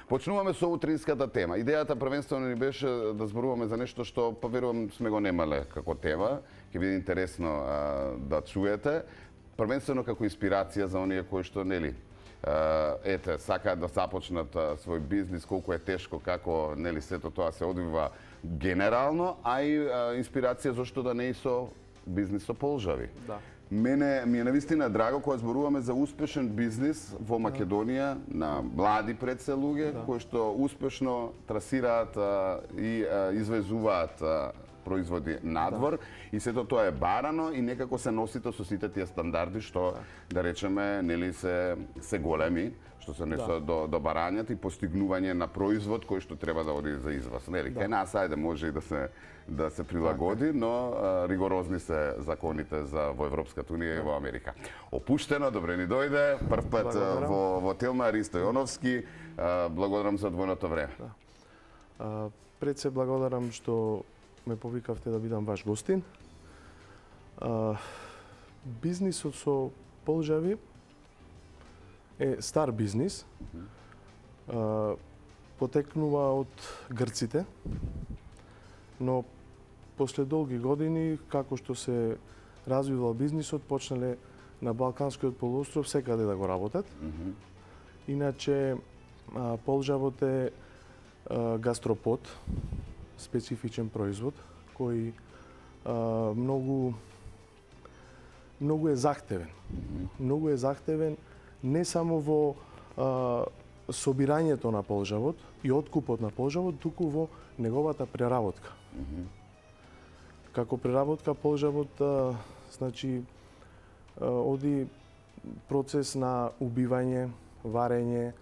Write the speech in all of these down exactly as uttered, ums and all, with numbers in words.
Почнуваме со утринската тема. Идејата првенствено ни беше да зборуваме за нешто што поверувам сме го немале како тема. Ќе биде интересно а, да чуете. Првенствено како инспирација за оние кои што нели ете сакаат да започнат а, свој бизнис, колку е тешко, како нели сето тоа се одвива генерално, а и а, инспирација зашто да не и со бизнис со полжави. Да. Мене ми е навистина драго кога зборуваме за успешен бизнис во Македонија на млади пред се луѓе да. кои што успешно трасираат а, и а, извезуваат а, производи надвор да. и сето тоа е барано и некако се носите со сите тие стандарди што да, да речеме нели се се големи, што се несо да. до до барањето и постигнување на производ кој што треба да оди за извоз. Нели да. кај нас ајде може и да се да се прилагоди, но а, ригорозни се законите за во Европската унија и во Америка. Опуштено, добре ни дојде, прв пат благодарам. во во Телма Ристо Јоновски, а, благодарам за одвоеното време. Да. А, пред се благодарам што ме повикавте да бидам ваш гостин. А, бизнисот со полжави е стар бизнис. А, потекнува од грците, но после долги години, како што се развивал бизнисот, почнале на Балканскиот полуостров секаде да го работат. Mm-hmm. Иначе, а, полжавот е а, гастропод, специфичен производ, кој а, многу многу е захтевен. Mm-hmm. Многу е захтевен не само во а, собирањето на полжавот и откупот на полжавот, туку во неговата преработка. Mm-hmm. Како преработка полжавот, а, значи, а, оди процес на убивање, варење,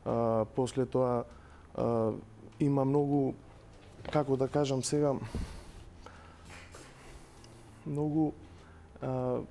а, после тоа а, има многу, како да кажам сега, многу а,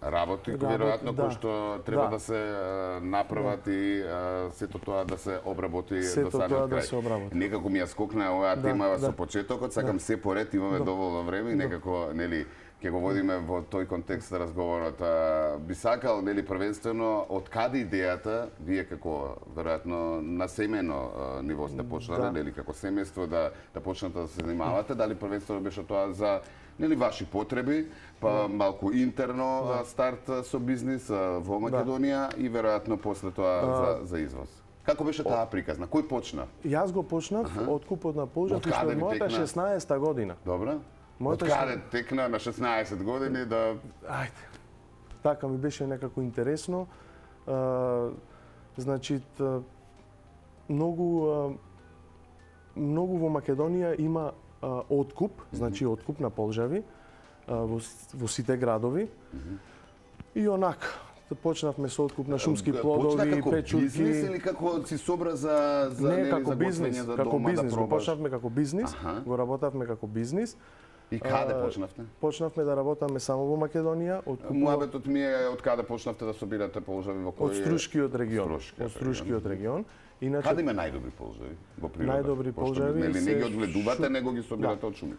работи, Работ, веројатно, да. кои што треба да, да се а, направат да. и а, сето тоа да се обработи сето до самиот крај. Да се обработи. Некако ми ја скокна оваа да, тема да. со почетокот, сакам да. се поред, имаме да. доволно време и некако, нели, ќе го водиме во тој контекст разговорот. А, би сакал, нели, првенствено, од каде идејата, вие како, веројатно, на семено а, ниво сте почнале, да. нели, како семејство да, да почнете да се занимавате, дали првенствено беше тоа за нели ваши потреби, па малку интерно да. старт со бизнис во Македонија да. и веројатно после тоа а... за, за извоз. Како беше таа приказна? Кој почна? Јас го почнав ага. откупот на полжав уште од мојата шеснаесета година. Добра. Мојата од каде текна на шеснаесет години да... Ајде. Така ми беше некако интересно. А, значи, многу, а, многу во Македонија има а, откуп, mm-hmm. значи откуп на полжави а, во, во сите градови. Mm-hmm. И онак, почнавме со откуп на шумски плодови, Почна печурки. Бизнис или како си собра за за не, нели, како за бизнис, за како дома бизнис, да го почнавме како бизнис, Аха. го работавме како бизнис. И каде почнавте? Почнавме да работаме само во Македонија. Муабетот ми е од каде почнавте да собирате полжави во кој? Од Струшкиот регион. Струшкиот од Струшкиот регион. Иначе каде има најдобри полжави во природата? Најдобри полжави нели не ги одгледувате, шу... него ги собирате да. од шумите.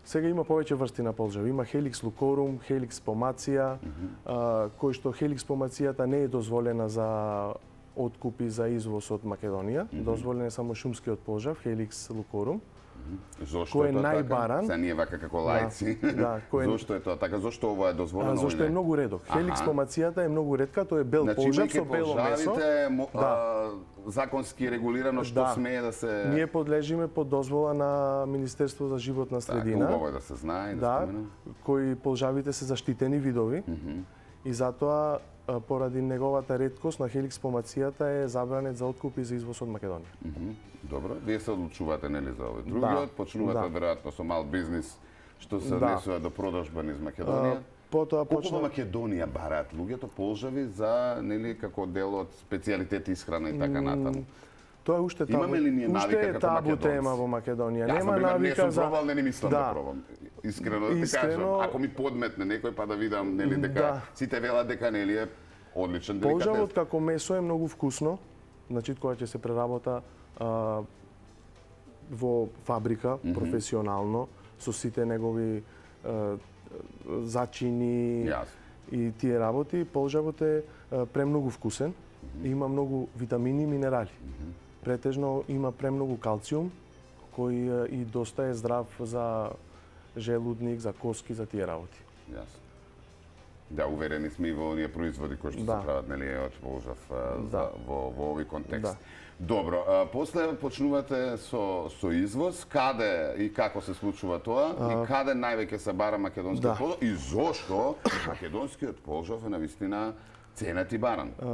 Сега има повеќе врсти на полжави. Има Helix lucorum, Helix pomacia, mm-hmm. а, кој што Helix pomацијата не е дозволена за откупи за извоз од Македонија. Mm-hmm. Дозволен е само шумскиот полжав, Helix lucorum. Зошто кој е тоа најбаран? Така? Се ние вака како лајци. Да, да, кој... Зошто е тоа така? Зошто ова е дозволено? А, зошто е многу редок. Helix pomацијата е многу ретка, тоа е бел значи, полжав со бело месо. Мо, да. а, законски регулирано што да. смее да се... Ние подлежиме под дозвола на Министерство за животна средина. Так, убаво е да се знае, да, да споменам. Кои полжавите се заштитени видови. Mm -hmm. И затоа поради неговата реткост на Helix pomацијата е забранет за откуп и за извоз од Македонија. Mm -hmm. Добро, вие се одлучувате нели за овој другиот, да. почнувате да. веројатно со мал бизнис што се да. однесува до продажба низ Македонија. А, потоа колку почна... во Македонија бараат луѓето полжави за нели како дел од специјалитети исхрана и така натаму? Тоа е уште табу. Имаме ли ние навика уште е табу тема во Македонија. Нема навика не за... Не сум пробал, не ни мислам да, да пробам. Искрено да ти Искрено... кажам, ако ми подметне некој па да видам нели дека да. сите велат дека нели е одличен деликатес. Полжавот како месо е многу вкусно. Значи кога ќе се преработа а, во фабрика, mm -hmm. професионално, со сите негови а, зачини yes. и тие работи, полжавот е а, премногу вкусен. Има многу витамини и минерали. Претежно има премногу калциум, кој и доста е здрав за желудник, за коски, за тие работи. Јасно. Да, уверени сме и во оние производи кои што Да. се прават, нели, од полжав Да. за, во, во овој контекст. Да. Добро, а, после почнувате со, со извоз, каде и како се случува тоа, а... и каде највеќе се бара македонскиот Да. полжав, и зошто македонскиот полжав е навистина ценет и баран? А,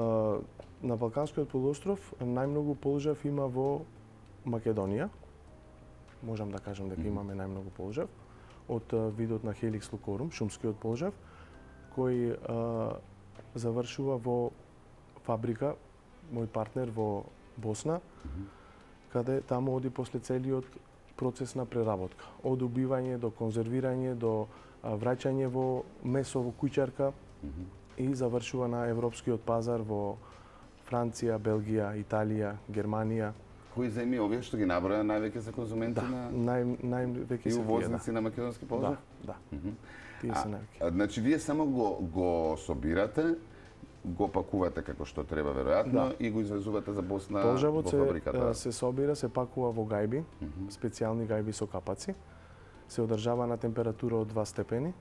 на Балканскиот полуостров најмногу полжав има во Македонија. Можам да кажам дека имаме најмногу полжав од а, видот на Helix lucorum, шумскиот полжав, кој а, завршува во фабрика, мој партнер во Босна, каде таму оди после целиот процес на преработка. Од убивање до конзервирање, до а, враќање во месо во куќарка и завршува на европскиот пазар во Франција, Белгија, Италија, Германија. Кои земји овие што ги наброја највеќе се конзументи Да, на нај, највеќе и се тие, увозници на македонски полжав? Да, да. Тие се највеќе. А, значи, вие само го, го собирате, го пакувате како што треба веројатно Да. и го извезувате за Босна Полжавот во се, фабриката. се собира, се пакува во гајби, специјални гајби со капаци, се одржава на температура од два степени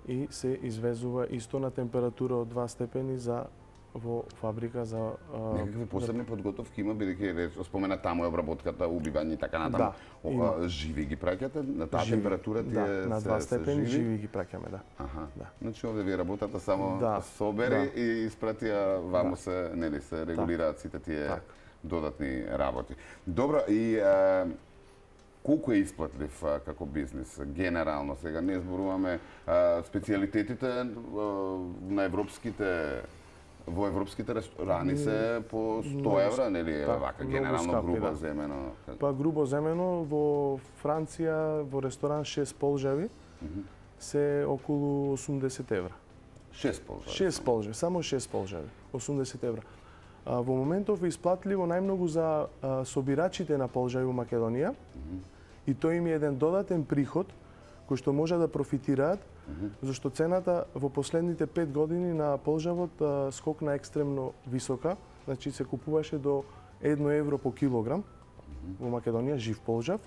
и се извезува исто на температура од два степени за во фабрика за а, Некакви посебни подготовки има, бидејќи реч- спомена таму е обработката, убивање и така натаму. Да, О, има. а, живи ги праќате на таа живи. температура тие Да, на се- два се степени живи? живи ги праќаме, да. Аха. Да. Значи овде вие работата само Да, собери да. и испратија ваму Да. се, нели, се регулираат сите тие Так. додатни работи. Добро, и а, колку е исплатлив а, како бизнис генерално сега? Не зборуваме а, специјалитетите а, на европските во европските ресторани се по сто евра, нели, Так, вака многу генерално скапи, грубо да. земено. Па грубо земено во Франција во ресторан шест полжави се околу осумдесет евра. шест полжави. шест полжави, само шест полжави, осумдесет евра. А, во моментов е исплатливо најмногу за а, собирачите на полжави во Македонија и тој им е еден додатен приход кој што може да профитираат, зашто цената во последните пет години на полжавот а, скокна екстремно висока, значи се купуваше до едно евро по килограм во Македонија жив полжав,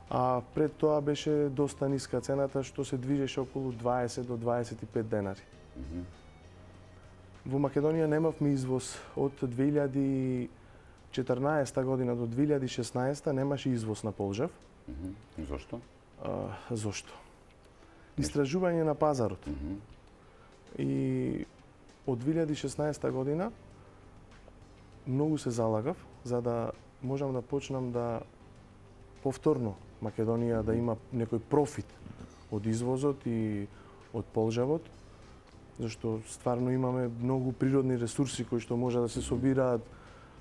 а пред тоа беше доста ниска цената што се движеше околу дваесет до дваесет и пет денари. Во Македонија немавме извоз од две илјади и четрнаесета година до две илјади и шеснаесета немаше извоз на полжав. Мгм. Зошто? А, зошто? Истражување на пазарот. И од две илјади и шеснаесета година многу се залагав за да можам да почнам да повторно Македонија да има некој профит од извозот и од полжавот, зашто стварно имаме многу природни ресурси кои што може да се собираат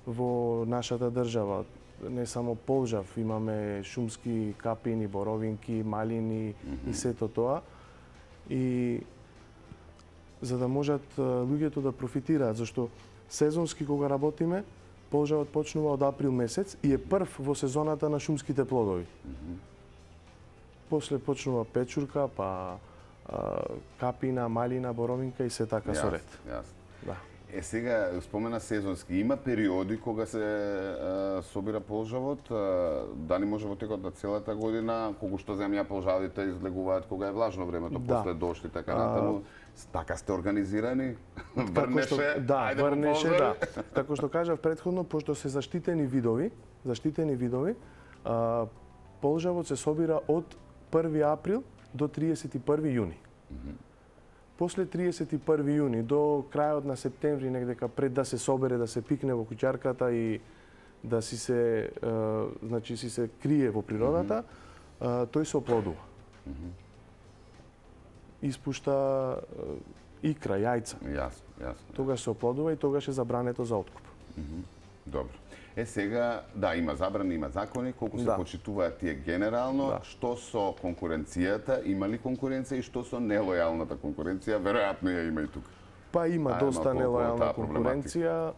во нашата држава. Не само полжав, имаме шумски капини, боровинки, малини и сето тоа. И за да можат а, луѓето да профитираат, зашто сезонски кога работиме, полжавот почнува од април месец и е прв во сезоната на шумските плодови. После почнува печурка, па а, капина, малина, боровинка и се така со ред. Јасно. Да. Е, сега, спомена сезонски, има периоди кога се а, собира полжавот, а, дали може во текот на целата година, колку што земја полжавите излегуваат кога е влажно времето, Да. после дожд и така натаму, така сте организирани? Како Врнеше, што, да, ајде по врнеше, полжави? да. Како што кажав претходно, пошто се заштитени видови, заштитени видови, а, полжавот се собира од први април до триесет и први јуни. После триесет и први јуни до крајот на септември, негдека пред да се собере, да се пикне во куќарката и да си се, а, значи си се крие во природата, а, тој се оплодува. Испушта а, икра, јајца. Јасно, јасно. Тогаш се оплодува и тогаш е забрането за откуп. Добро. Е, сега, да, има забрани, има закони, колку се Да. почитуваат тие генерално, Да. што со конкуренцијата, има ли конкуренција и што со нелојалната конкуренција, веројатно ја има и тука. Па има Ајде доста малку околу нелојална таа проблематика. конкуренција.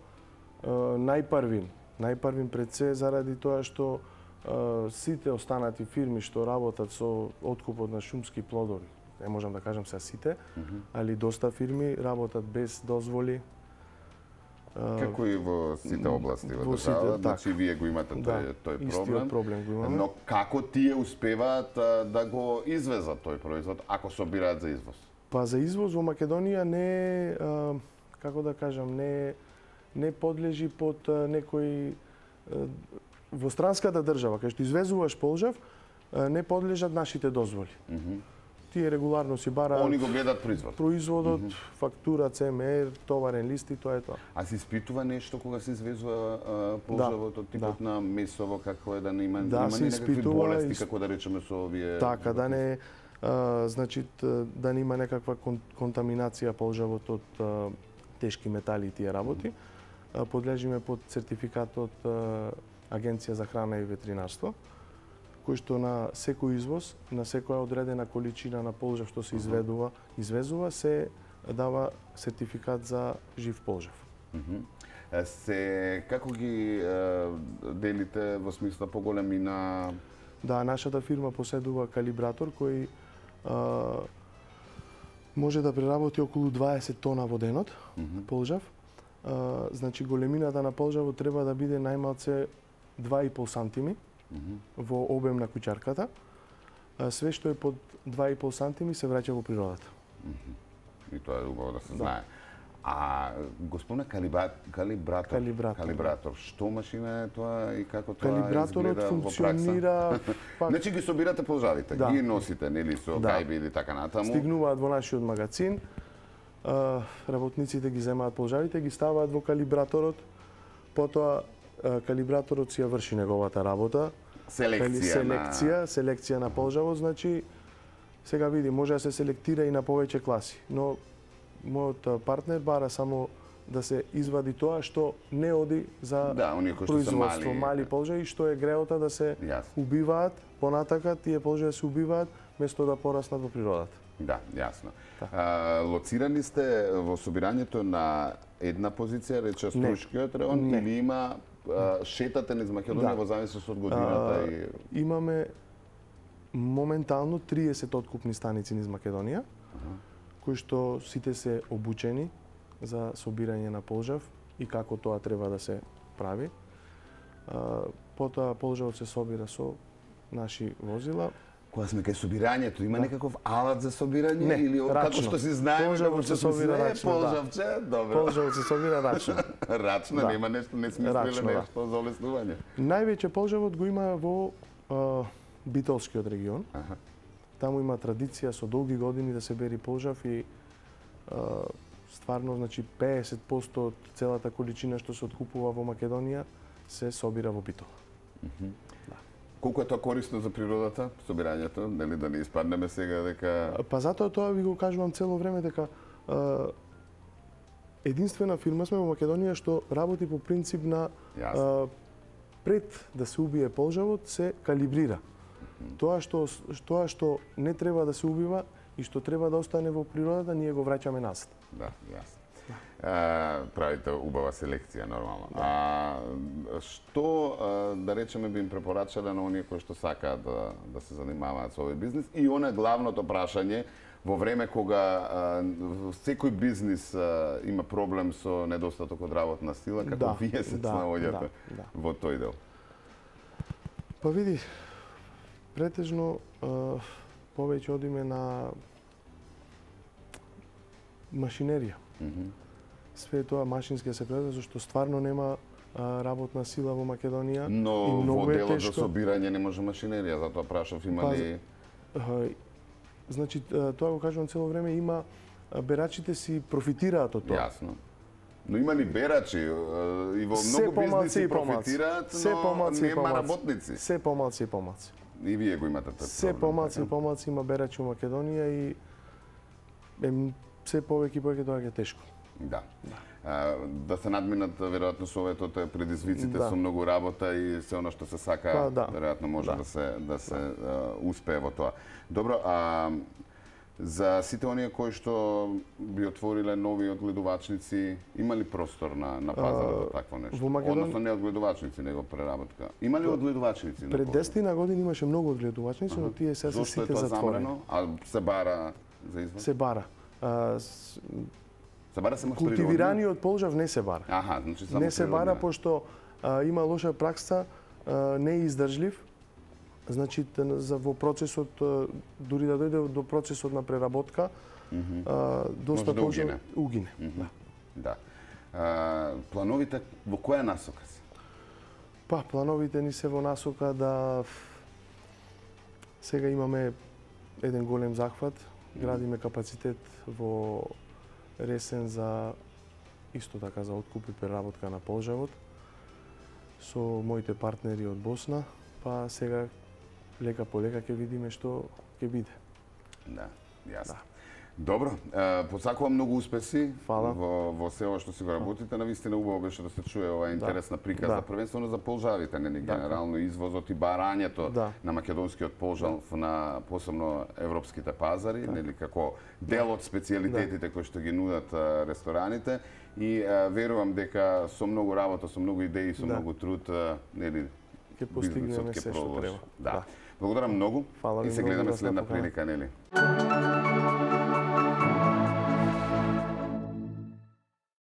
Е, Најпрвин, најпрвин пред се заради тоа што е, сите останати фирми што работат со откупот на шумски плодови, не можам да кажам сега сите, али доста фирми работат без дозволи. Како и во сите области во во сите, држава, така. значи вие го имате Да, тој тој истиот проблем. проблем го имаме. Но како тие успеваат а, да го извезат тој производ ако собираат за извоз? Па за извоз во Македонија не, а, како да кажам, не не подлежи под а, некој а, во странската држава, кај што извезуваш полжав, а, не подлежат нашите дозволи. Mm -hmm. Тие регуларно си бараат Они го гледат производ. производот, mm -hmm. фактура, Це Ем Ер, товарен лист и тоа е тоа. А се испитува нешто кога се извезува полжавот од типот да. на месово, како е да не има, Да, има се ли некакви испитува, болести, из- како да речеме со овие... Така, да не а, значи т- да не има некаква кон, контаминација полжавот од а, тешки метали и тие работи. А, подлежиме под сертификат од а, Агенција за храна и ветеринарство, кој што на секој извоз, на секоја одредена количина на полжав што се изведува, извезува, се дава сертификат за жив полжав. Мгм. Е, Се, како ги е, делите во смисла поголемина? Да, нашата фирма поседува калибратор кој а, може да преработи околу дваесет тона во денот, Мгм. полжав. А, значи големината на полжавот треба да биде најмалце два и пол сантими Мгм. во обем на куќарката. А, све што е под два и пол сантими се враќа во природата. И тоа е убаво да се Да. знае. А господина калибра... калибратор, Калибратор, калибратор, што машина е тоа и како тоа Калибраторот изгледа во пракса? функционира пак Значи ги собирате полжавите, Да. ги носите, нели, со Да. гајби или така натаму. стигнуваат во нашиот магазин, а, работниците ги земаат полжавите, ги ставаат во калибраторот, потоа а, калибраторот си ја врши неговата работа. Кали- Селекција, селекција, селекција на полжавот, значи сега види, може да се селектира и на повеќе класи, но мојот а, партнер бара само да се извади тоа што не оди за на... Да, оние кои што се производство, мали. мали полжави, што е греота да се Јасно. убиваат, понатака тие полжави се убиваат место да пораснат во природата. Да, јасно. Да. А, лоцирани сте во собирањето на една позиција, рече Струшкиот район, Не. или има а, шетате низ Македонија Да. во зависност од годината А, и... Имаме моментално триесет откупни станици низ Македонија, кои што сите се обучени за собирање на полжав и како тоа треба да се прави. А, Потоа полжавот се собира со наши возила. Кога сме кај собирањето, има некаков алат за собирање Не, или како рачно. што си знаеме Полжавот како се што собира се рачно, да. полжавче, добро. Полжавот се собира рачно. Рачно, Да. нема нешто, не смислиле Рачно, да. нешто за олеснување. Највеќе полжавот го има во а, Битолскиот регион. Аха. Таму има традиција со долги години да се бери полжав и а, стварно, значи педесет проценти од целата количина што се откупува во Македонија се собира во Битол. Колку е тоа корисно за природата, собирањето, нели да не испаднеме сега дека Па затоа тоа ви го кажувам цело време дека а, единствена фирма сме во Македонија што работи по принцип на Јасно. а, пред да се убие полжавот се калибрира. Тоа што тоа што не треба да се убива и што треба да остане во природата, ние го враќаме назад. Да, јасно. А, правите убава селекција нормално. А што а, да речеме би им препорачале на оние кои што сакаат да да се занимаваат со овој бизнис и она главното прашање во време кога а, секој бизнис а, има проблем со недостаток од работна сила, како Да, вие се да, снаоѓате да, да. во тој дел? Па види, претежно а, повеќе одиме на машинерија. Мгм. Све тоа машински да се преведе, зашто стварно нема а, работна сила во Македонија. Но и многу во е делот за тешко. собирање не може машинерија, затоа прашав има Па, ли... А, Значи, а, тоа го кажувам цело време, има а, берачите си профитираат од тоа. Јасно. Но има ли берачи е, и во Се многу помалци бизниси и помалци. профитираат, Се но помалци и нема помалци. работници. Се помалци и помалци. И вие го имате тој Се проблем, помалци и така? помалци има берачи во Македонија и ем, се повеќе и повеќе тоа е тешко. Да. А, да се надминат веројатно советот е предизвиците Да. со многу работа и се она што се сака, Па, да. веројатно може да, Да. се да се а, успее во тоа. Добро, а за сите оние кои што би отвориле нови одгледувачници, има ли простор на на пазарот за такво нешто? во Македон- Односно не одгледувачници, него преработка. Има ли одгледувачници? на Пред пазарот? десет години имаше многу одгледувачници, но тие сега се Зошто е сите тоа затворени. забрано? А се бара за извоз? Се бара. А, с, Се бара само природни? Култивираниот полжав не се бара. Аха, значи само не се бара природни. пошто а, има лоша пракса, а, не е издржлив. Значи за во процесот а, дури да дојде до процесот на преработка, Мгм. а, доста Може да полжав угине. угине. Мгм. Да. Да. А, плановите во која насока се? Па, плановите ни се во насока да сега имаме еден голем захват, градиме капацитет во Ресен за исто така за откуп и преработка на полжавот со моите партнери од Босна, па сега лека по лека ќе видиме што ќе биде. Да, јасно. Да. Добро, е, посакувам многу успеси Фала. во во се ова што си го работите. Навистина убаво беше да се чуе оваа интересна приказна, Да. првенствено за полжавите, нели Така. генерално извозот и барањето Да. на македонскиот полжав на посебно европските пазари, нели како дел од специјалитетите кои што ги нудат а, рестораните и а, верувам дека со многу работа, со многу идеи, со Да. многу труд, а, нели Ќе бизнисот постигнеме ќе се што продолжи. треба. Да. Да. Благодарам многу Фала ви и се многу гледаме да сте следна покана. прилика, нели?